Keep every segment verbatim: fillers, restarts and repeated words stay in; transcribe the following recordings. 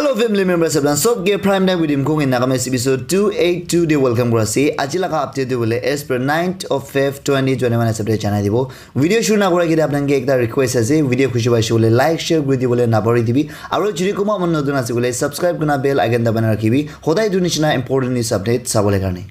Hello family members, apni sob ke Prime Time with Imkung in Nagamese episode two eight two de welcome kura ase. Aji laga update de bole as per ninth of Feb twenty twenty-one hisab de janai dibo. Video shuru na kura kite apni ke ekta request ase, video khushi paise bole like share kuri dibole na pahori dibi. Aru jodi kuma mon notun ase bole subscribe kurna bell icon dabai na rakhibi. Hodai tu nishina important news update sabole karne.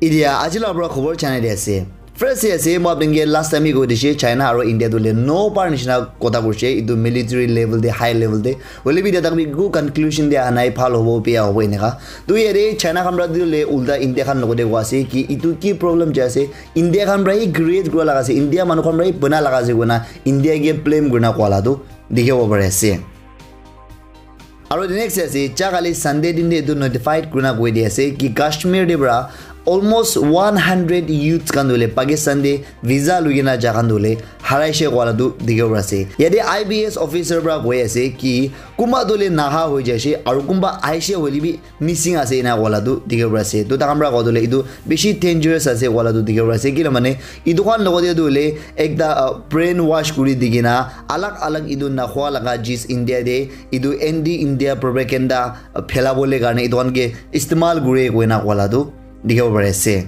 Idia aji la pura khobor janai di ase. First te ase, moi apni ke last time hi koi dise, China aru India tu le no par nishina kotha kurise, itu military level te, high level te. Hoile bi idia tak bi eku conclusion dia nai, bhal hobo, beya hobo eneka. Tu yate China khan pra tu le ulta India khan logote koi ase ki itu ki problem jai ase, India khan pra hi create kura laga ase, India manu khan pra hi bana laga ase koina India ke blame kurina koa la tu dikhibo pari ase. Aru the next ase, ja kali Sunday din te etu notified kurina koi di ase ki Kashmir te pra almost one hundred youths khan tu le Pakistan te visa lui kena ja khan tu le haraishe koa la tu dikhibo pari ase. Yate I B S officer pra koi ase ki kunba tu le naha hoi jaise aru kunba aishe hoile bi missing ase ena koa la tu dikhibo pari ase. Tu takhan pra koa tu le etu bishi dangerous ase koa la tu dikhibo pari ase. Kila mane etu khan logote tu hoile ekta, uh, brain wash kuri di kena alag alag etu nakhwa laga jis India te etu anti India propaganda, uh, phelabole karne etu khan ke istemal kure koina koa la tu dikhibo pari ase.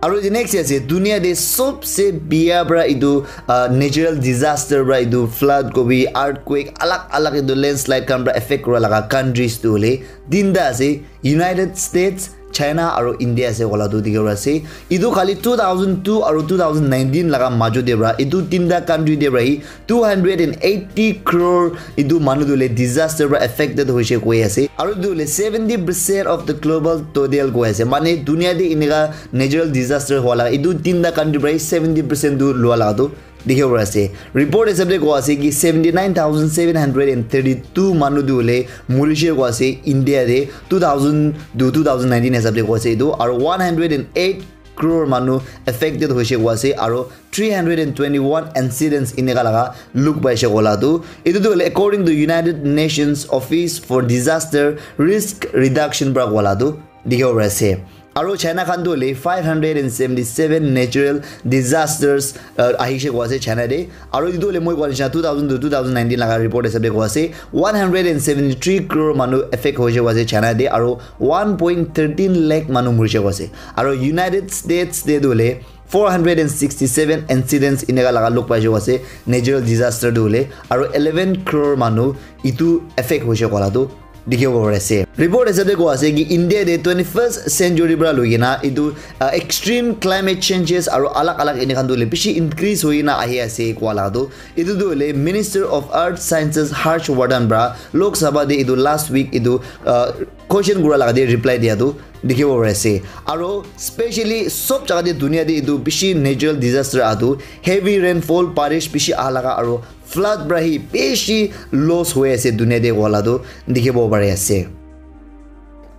Aru the next ase, dunia te sobse biya pra etu, uh, natural disaster pra etu flood kobi, earthquake, alag alag etu landslide khan pra affect kura laga countries tu hoile tinta ase, United States, China aru India ase koa la tu dikhibo pari ase. Etu khali two thousand two aru two thousand nineteen laga majo te pra etu tinta country te pra hi two hundred and eighty crore etu manu tu le disaster pra affected hoise koi ase. Aru etu le seventy percent of the global total koi ase. Mane dunia te eneka natural disaster hua laga etu tinta country pra hi seventy percent tu lua laga tu dikhibo pari ase. Report hisab te koi ase ki seventy nine thousand seven hundred and thirty two manu tu le murishe koi ase India te two thousand to two thousand nineteen hisab te koi ase etu. Aru one hundred and eight crore manu affected hoise koi ase. Aru three hundred and twenty one incidents eneka laga look paise koa la tu. Etu tu hoile according to United Nations Office for Disaster Risk Reduction pra koa la tu dikhibo pari ase. Aru China khan tu hoile five hundred and seventy seven natural disasters, uh, ahishe koi ase China te. Aru etu tu hoile moi koi nishina two thousand to two thousand nineteen laga report hisab te koi ase one hundred and seventy three crore manu affect hoise koi ase China te. Aru one point thirteen lakh manu murishe koi ase. Aru United States te tu hoile four hundred and sixty seven incidents eneka laga look paise koi ase natural disaster tu hoile, aru eleven crore manu etu affect hoise koa la tu dikhibo pari ase. Report hisab te koi ase ki India te twenty first century pra lui kena etu, uh, extreme climate changes aru alag alag eneka tu hoile bishi increase hoi kena ahi ase koa la tu. Etu tu hoile Minister of Earth Sciences Harsh Vardhan pra Lok Sabha te etu last week etu, uh, question kura laga te reply dia tu dikhibo pari ase. Aru specially sob jaga te dunia te etu bishi natural disaster aha tu, heavy rainfall, barish bishi aha laga aru flood pra hi bishi loss hoi ase dunia te koa la tu dikhibo pari ase.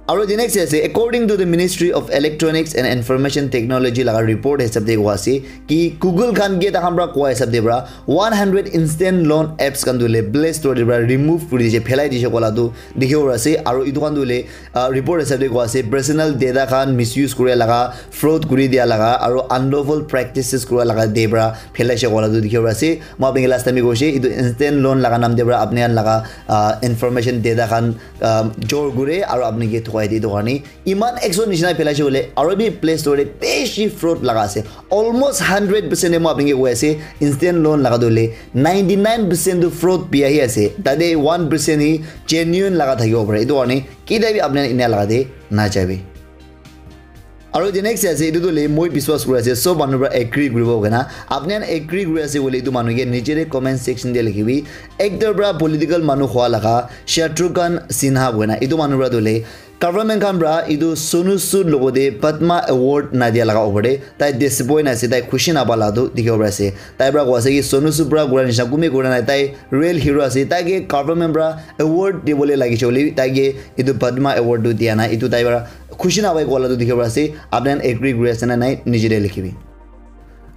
Aru the next ase, according to the Ministry of Electronics and Information Technology laga report hisab te koi ase ki Google khan ke takhan pra koi hisab te pra one hundred instant loan apps khan tu le Play Store te pra remove kuri dise, phelai dise koa la tu dikhibo pari ase. Aru etu khan tu hoile, uh, report hisab te koi ase personal data khan misuse kuri laga, fraud kuri dia laga aru unlawful practices kura laga te pra phelaise koa la tu dikhibo pari ase. Moi apni ke last time bi koise etu instant loan laga naam te pra apni khan laga, uh, information data khan, um, jor kure aru apni ke thukai di etu karne iman action nishina phelaise bole aru bi Play Store te bishi fraud laga ase. Almost hundred percent te moi apni ke koi ase, instant loan laga tu hoile ninety nine percent tu fraud bi ahi ase. Tate one percent hi genuine laga thakibo pare. Etu karne ketia bi apni khan enia laga te na jaibi. Aru the next ase, etu tu hoile moi biswas kuri ase, sob manu pra agree kuribo koina. Apni khan agree kuri ase koile etu manu ke niche te comment section te likhibi. Actor pra political manu hua laga Shatrughan Sinha koina. Etu manu pra tu hoile government khan pra etu Sonu Sood logote Padma Award nadia laga opor te tai disappoint ase, tai khushi napa la tu dikhibo pari ase. Tai pra koi ase ki Sonu Sood pra kura nishina kunba kura nai, tai real hero ase. Tai ke government pra award dibole lagise hoile bi tai ke etu Padma Award tu dia nai. Etu tai pra khushi napai koa la tu dikhibo pari ase. Apni khan agree kuri ase na nai, niche te likhibi.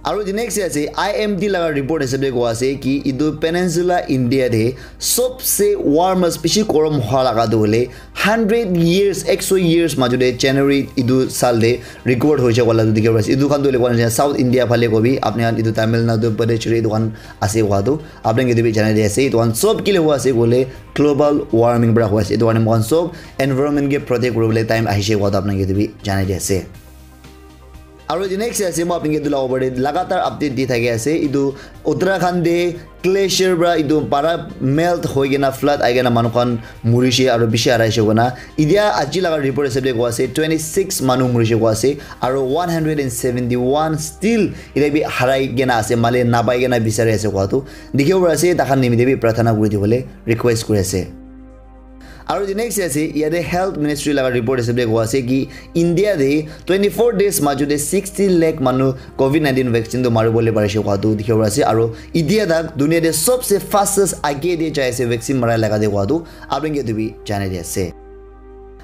Aru the next ase, I M D laga report hisab te koa ase ki etu peninsula India te sobse warmest, bishi gorom hua laga tu hoile hundred years, ekso years majo te January etu saal te record hoise wala tu dikhi ase. Etu khan tu hoile koa ase South India phale kobi, apni khan etu Tamil Nadu, Puducherry etu khan ase koa tu, apni khan ke etu bi janai di ase. Etu khan sob kile hua ase koile global warming para hua ase. Etu karne moikhan sob environment ke protect kuribole time ahise koa tu apni khan ke etu bi janai di ase. Aru the next ase, moi apni ke etu laga opor te lagatar update di thaki ase. Etu Uttarakhand te glacier para etu para melt hoi kena flood ahi kena manu khan murishe aru bishi haraishe koina. Etia aji laga report hisab te koa ase twenty six manu murishe koa ase aru one hundred and seventy one still etia bi harai kena ase, male napai kena bisari ase koa tu dikhibo pari ase. Takhan nimite bi prarthana kuri dibole request kuri ase. Aru the next ase, yate health ministry laga report hisab te koa ase ki India te twenty four days majo te sixty lakh manu covid nineteen vaccine tu mari bole parise koa tu dikhibo pari ase. Aru India tak dunia te sobse fastest age te jai ase vaccine marai laga te koa tu apni ke etu bi janai di ase.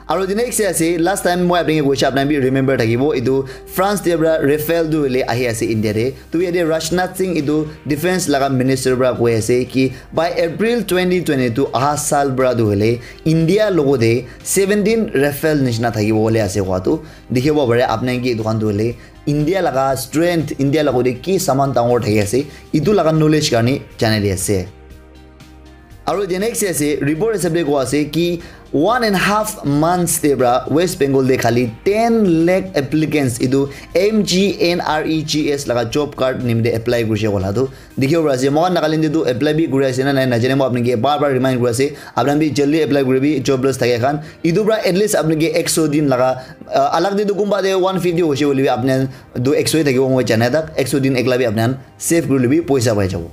Aru the next ase, last time moi apni ke koise, apni bi remember thakibo, etu France te para Rafale tu hoile ahi ase India te. Tu yate Rajnath Singh etu defense laga minister para koi ase ki by April twenty twenty two aha saal para tu hoile India logo te seventeen Rafale nishina thakibo bole ase koa tu dikhibo pare. Apni ke etu khan tu hoile India laga strength, India logo te ki saman dangor thaki ase, etu laga knowledge karne janai di ase. Aru the next ase, report hisab te koa ase ki one and half months te para West Bengal te khali ten lakh applicants etu M G N R E G S laga job card nimite apply kurise koa la tu dikhibo pari ase. Moikhan Nagaland te tu apply bi kuri ase na nai najane, moi apni ke bar bar remind kuri ase, apni bi jaldi apply kuribi jobless thake khan. Etu para at least apni ke ekso din laga, uh, alag te tu kunba te one fifty hoise hoile bi apni tu ekso thakibo, moi jana tak ekso din ekla bi apni save kuri lebi poisa pai jabo.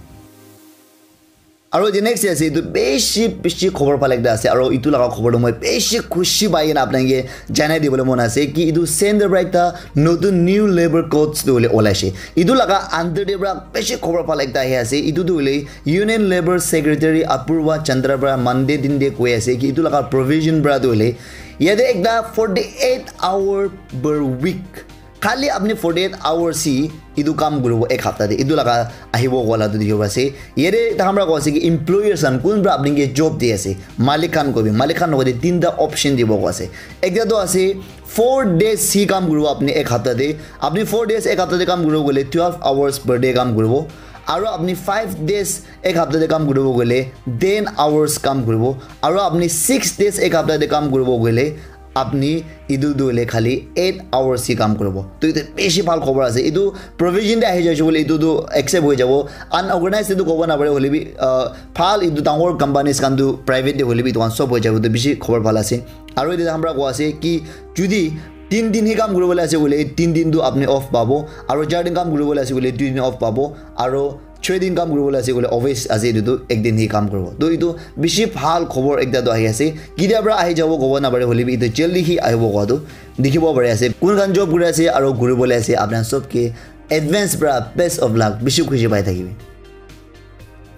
Aru the next ase, etu bishi bishi khobor bhal ekta ase, aru etu laga khobor tu moi bishi khushi pai kena apni ke janai dibole mon ase ki etu center para ekta notun new labour codes tu hoile olaise. Etu laga under te para bishi khobor bhal ekta ahi ase. Etu tu hoile Union Labour Secretary Apurva Chandra para Monday din te koi ase ki etu laga provision para tu hoile yate ekta forty eight hour per week khali apni forty eight hours hi etu kam kuribo ek hapta te, etu laga ahibo koa la tu dikhibo ase. Yate takhan para koa ase ki employers khan kun para apni ke job di ase, malik khan kobi, malik khan logote tinta option dibo koa ase. Ekta tu ase four days hi kam kuribo apni ek hapta te. Apni four days ek hapta te kam kuribo koile twelve hours per day kam kuribo. Aru apni five days ek hapta te kam kuribo koile ten hours kam kuribo. Aru apni six days ek hapta te kam kuribo koile apni etu tu hoile khali eight hours hi kam kuribo. Tu etu bishi bhal khobor ase. Etu provision te ahi jaise koile etu tu accept hoi jabo. Unorganized te tu kobo napare hoile bi, uh, bhal etu dangor companies khan tu private te hoile bi etu khan sob hoi jabo. Tu bishi khobor bhal ase. Aru etu hamra koa ase ki judi tin din hi kam kuribole ase koile tin din tu apni off pabo. Aru char din kam kuribole ase koile dui din off pabo. Aru choi din kam kuribole ase koile office ase etu tu ek din hi kam kuribo. To etu bishi bhal khobor ekta tu ahi ase. Ketia para ahi jabo kobo napare hoile bi etu jaldi hi ahibo koa tu dikhibo pari ase. Kun khan job kuri ase aru kuribole ase, apni khan sob ke advance para best of luck, bishi khushi pai thakibi.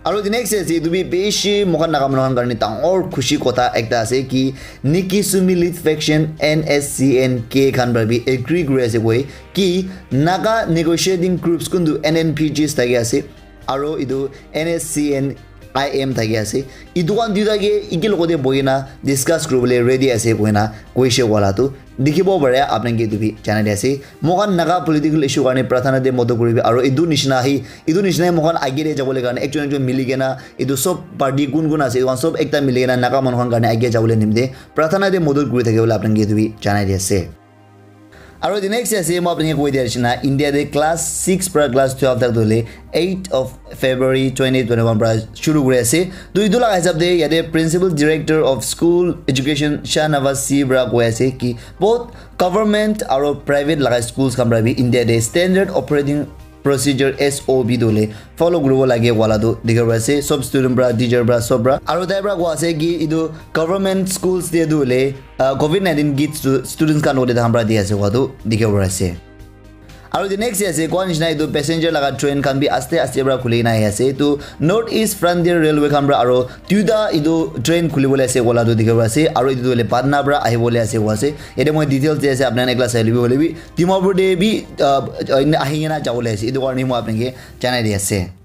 Aru the next ase, etu bi bishi moikhan Naga manu khan karne dangor khushi kotha ekta ase ki Nikki Sumi lead faction N S C N K khan para bi agree kuri ase koi ki Naga negotiating groups kuntu N N P Gs thaki ase aru etu N S C N I M thaki ase, etu khan duita ke eki logote bohi na discuss kuribole ready ase koina koise wala tu dikhibo pare. Apni khan ke etu bi janai di ase, moikhan Naga political issue karne prathana te modot kuribi aru etu nishina hi, etu nishina hi moikhan age te jabole karne ekjon ekjon mili kena etu sob party kun kun ase etu khan sob ekta mili kena Naga manu khan karne age jabole nimite prathana te modot kuri thakibole apni khan ke etu bi janai di ase. Aru the next ase, moi apni khan ke koi dia nishina, India te class six para class twelve tak tu hoile eight of February twenty twenty-one para shuru kuri ase. To etu laga hisab te yate Principal Director of School Education Shahnawaz C para koi ase ki both government aru private laga schools khan para bi India te standard operating procedure, S O P, tu hoile follow kuribo lage wala tu dikhibo pari ase, sob student para, teacher para, sob para. Aru tai para koi ase ki etu government schools te tu hoile, ah, covid nineteen kits tu students khan logote tahan para di ase koa tu dikhibo pari ase. Aru the next ase, koa nishina etu passenger laga train khan bi aste aste para khuli kena ahi ase. Etu North East Frontier Railway khan para aru duita etu train khuli bole ase koa la tu dikhi ase. Aru etu tu hoile Patna para ahi bole ase koa ase. Yate moi details di ase, apni khan ekla sai lobi hoile bi Dimapur te bi, uh, ahi kena ja bole ase. Etu karne moi apni ke janai di ase.